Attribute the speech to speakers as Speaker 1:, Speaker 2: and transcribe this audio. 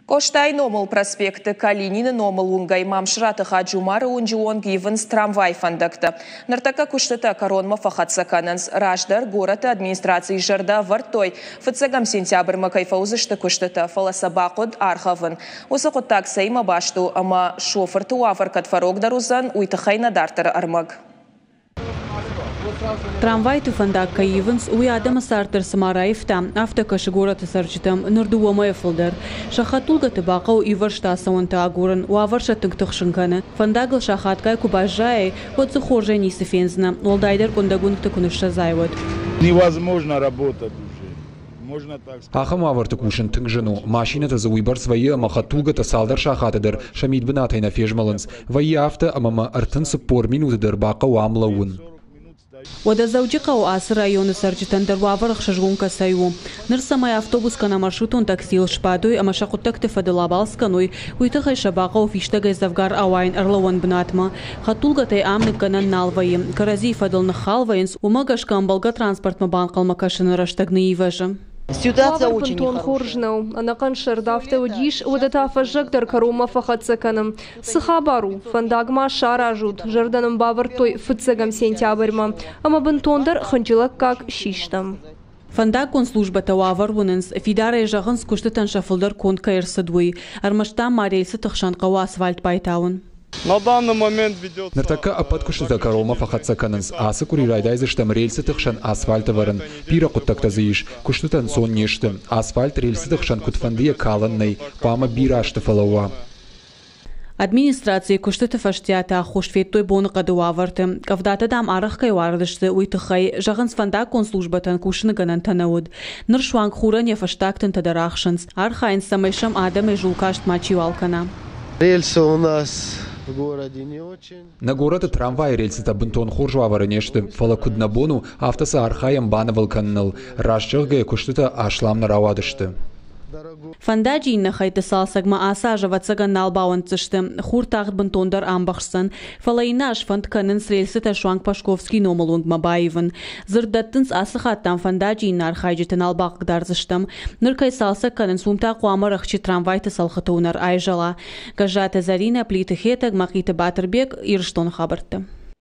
Speaker 1: Къостайы номыл проспекты Калинины номыл уынгӕй Мамсыраты Хаджумары уынджы онг ивынц трамвай фӕндӕгтӕ. Ныртӕккӕ куыстытӕ кӕронмӕ фӕхӕццӕ кӕнынц. Раздӕр горӕты администрацийы зӕрдӕ ӕвӕрдтой, фыццӕгӕм сентябрьмӕ кӕй фӕуыдзысты куыстытӕ, фӕлӕ сӕ бахъуыд аргъӕвын. Уыцы хъуыддаг цӕимӕ баст у ӕмӕ шофырты уавӕр кӕд фӕрогдӕр уыдзӕн, уый тыххӕй нӕ дарддӕры ӕрмӕг.
Speaker 2: Трамвайты фӕндаг кӕй ивынц, уый адӕмы цард дӕр цыма раивта, афтӕ кӕсы горӕты цӕрджытӕм ныр дыууӕ мӕйӕ фылдӕр. Сӕ хӕдтулгӕты бахъӕуы ивӕрзт ацӕуӕнтӕ агурын, уавӕр сӕ тынг тыхсын кӕны. Фӕндагыл сахатгай куы баззайай, уӕд дзы хорзӕй ницы фендзынӕ, уӕлдайдӕр къуындӕг уынгты куы ныссӕдзай, уӕд.
Speaker 3: Невозможно работать уже.
Speaker 4: Ахӕм уавӕрты кусын тынг зын у. Машинӕтӕ дзы уыйбӕрц вӕййы ӕмӕ хӕдтулгӕтӕ цалдӕр сахаты дӕр сӕ мидбынатӕй нӕ фезмӕлынц. Вӕййы афтӕ, ӕмӕ мӕ 34 минуты дӕр бахъӕуы ам лӕууын.
Speaker 2: Уӕдӕ Дзӕуджыхъӕуы ацы районы цӕрджытӕн дӕр уавӕр ӕхсызгон кӕцӕй у. Ныр цӕмӕй автобус кӕнӕ маршрутон таксийыл сбадой ӕмӕ сӕ хъуыддӕгты фӕдыл абалц кӕной, уый тыххӕй сӕ бахъӕуы фистӕгӕй дзӕвгар ауайын ӕрлӕууӕн бынатмӕ. Хӕдтулгӕтӕй ам ныккӕнӕн нал вӕййы, кӕрӕдзийы фӕдыл ныххал вӕййынц, уымӕ гӕсгӕ ӕмбӕлгӕ транспортмӕ банхъӕлмӕ кӕсыны рӕстӕг ныйивӕзы.
Speaker 5: Уавӕр бынтон хорз нӕу. Ӕнӕхъӕн сӕрд афтӕ уыдис, уӕдӕ та фӕззӕг дӕр кӕронмӕ фӕхӕццӕ кӕны. Цы хабар у? Фӕндаг ма саразут, зӕрдӕ нын бавӕрдтой фыццӕгӕм сентябрьмӕ. Ӕмӕ бынтондӕр хынджылӕггаг систӕм.
Speaker 2: Фӕндаггон службӕтӕ уавӕр уынынц, фидарӕй зӕгъынц, куыстытӕн сӕ фылдӕр конд кӕй ӕрцыд, уый. Ӕрмӕст дам ма рельсыты хсӕн хъӕуы асфальт байтауын.
Speaker 4: Ныртӕккӕ ӕппӕт куыстытӕ кӕронмӕ фӕхӕццӕ кӕнынц. Ацы къуыри райдайдзыстӕм рельсыты хсӕн асфальт ӕвӕрын. Бирӕ хъуыддӕгтӕ дзы ис. Куыстытӕ ӕнцон не сты. Асфальт рельсыты хсӕн куыдфӕндыйӕ калӕн нӕй, хъуамӕ бирӕ азты фӕлӕууа.
Speaker 2: Администрацийы куыстыты фӕстиаты аххос федтой боныхъӕды уавӕрты. Къӕвдатӕ, дам, арӕх кӕй уарыдысты, уый тыххӕй, зӕгъынц, фӕндаггон службӕтӕн кусыны гӕнӕнтӕ нӕ уыд. Ныр суанг хурӕн йӕ фӕстаг тынтӕ дӕр ӕхсынц. Архайынц, цӕмӕй сӕм адӕмӕй зулкаст мачиуал кӕна.
Speaker 6: Рельсы у нас в городе не очень.
Speaker 4: Нӕ горӕты трамвайы рельсытӕ бынтон хорз уавӕры не сты, фӕлӕ куыд нӕ бон у, афтӕ сӕ архайӕм банывыл кӕныныл. Раст зӕгъгӕйӕ, куыстытӕ аслам нӕ рауадысты.
Speaker 2: Фӕндаджы иннӕ хӕйтты цалцӕгмӕ ацы аз, ӕвӕццӕгӕн, нал бауӕнддзысты. Хур тагъд бынтондӕр амбӕхсдзӕн. Фӕлӕ иннӕ аз фӕнд кӕнынц рельсытӕ суанг Пашковскийы номыл уынгмӕ баивын. Дзырд дӕттынц, ацы хатт, дам, фӕндаджы иннӕ архайджыты нал бахъыгдардзыстӕм. Ныр кӕй цалцӕг кӕнынц, уым та хъуамӕ рӕхджы трамвайты цӕлхыты уынӕр айзӕла. Гӕззаты Зӕринӕ, Плиты Хетӕг, Мӕхъиты Батырбег, Ирыстоны хабӕрттӕ.